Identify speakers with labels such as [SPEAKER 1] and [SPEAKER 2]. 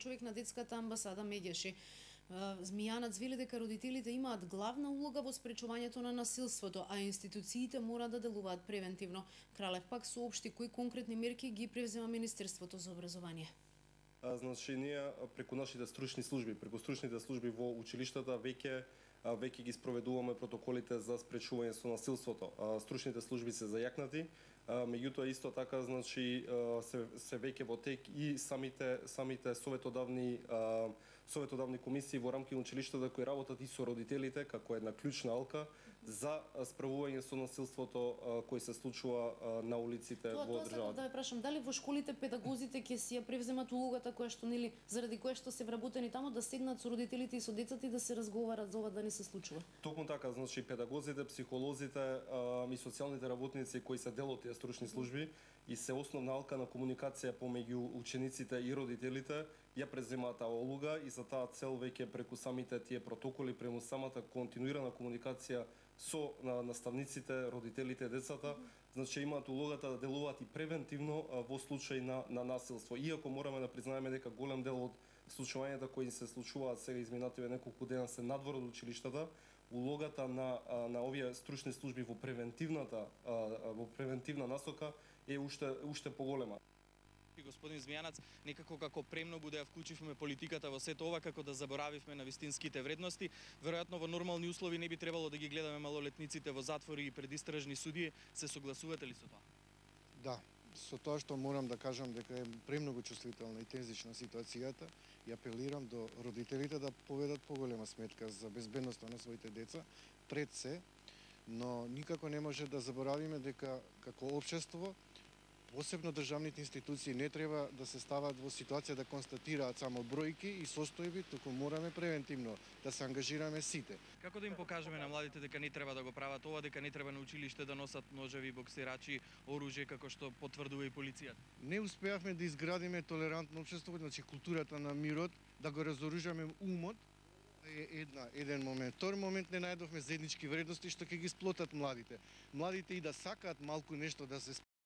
[SPEAKER 1] човек на детската амбасада Меѓеши. Змијанац вели дека родителите имаат главна улога во спречувањето на насилството, а институциите мора да делуваат превентивно. Кралев пак соопшти кои конкретни мерки ги превзема Министерството за образование.
[SPEAKER 2] Значи, ние преку нашите стручни служби, во училиштата веќе ги спроведуваме протоколите за спречување со насилството. Стручните служби се зајакнати, меѓутоа исто така, значи, се веќе во тек и самите советодавни комисии во рамки на училиштата кои работат и со родителите како една клучна алка за справување со насилството кој се случува на улиците во државата.
[SPEAKER 1] Да ве прашам, дали во школите педагозите ќе си ја превземат улогата која што заради која што се вработени таму да седнат со родителите и со децата и да се разговарат за ова да не се случува?
[SPEAKER 2] Токму така, значи педагозите, психолозите и социјалните работници кои се дел од тие стручни служби и се основна алка на комуникација помеѓу учениците и родителите, ја преземаат таа улога и за таа цел веќе преку самите тие протоколи, прему самата континуирана комуникација со наставниците, родителите, децата, значи имаат улогата да делуваат и превентивно во случај на насилство. Иако мораме да признаеме дека голем дел од случувањата кои се случуваат сега изминативе неколку дена се надвор од училиштата, улогата на овие стручни служби во превентивна насока е уште поголема.
[SPEAKER 3] Господин Змијанац, некако како премногу да ја вклучивме политиката во сето ова, како да заборавивме на вистинските вредности. Веројатно во нормални услови не би требало да ги гледаме малолетниците во затвори и предистражни судии. Се согласувате ли со тоа?
[SPEAKER 4] Да, со тоа што морам да кажам дека е премногу чувствителна и тензична ситуацијата и апелирам до родителите да поведат поголема сметка за безбедноста на своите деца пред се, но никако не може да заборавиме дека како општество посебно државните институции не треба да се стават во ситуација да констатираат само бројки и состојби, туку мораме превентивно да се ангажираме сите.
[SPEAKER 3] Како да им покажеме на младите дека не треба да го прават ова, дека не треба на училиште да носат ножеви, боксирачи, оружје како што потврдува и полицијата?
[SPEAKER 4] Не успеавме да изградиме толерантно општество, значи културата на мирот, да го разоружаме умот, е еден момент. Втор момент, не најдовме заеднички вредности што ќе ги сплотат младите. Младите и да сакаат малку нешто да се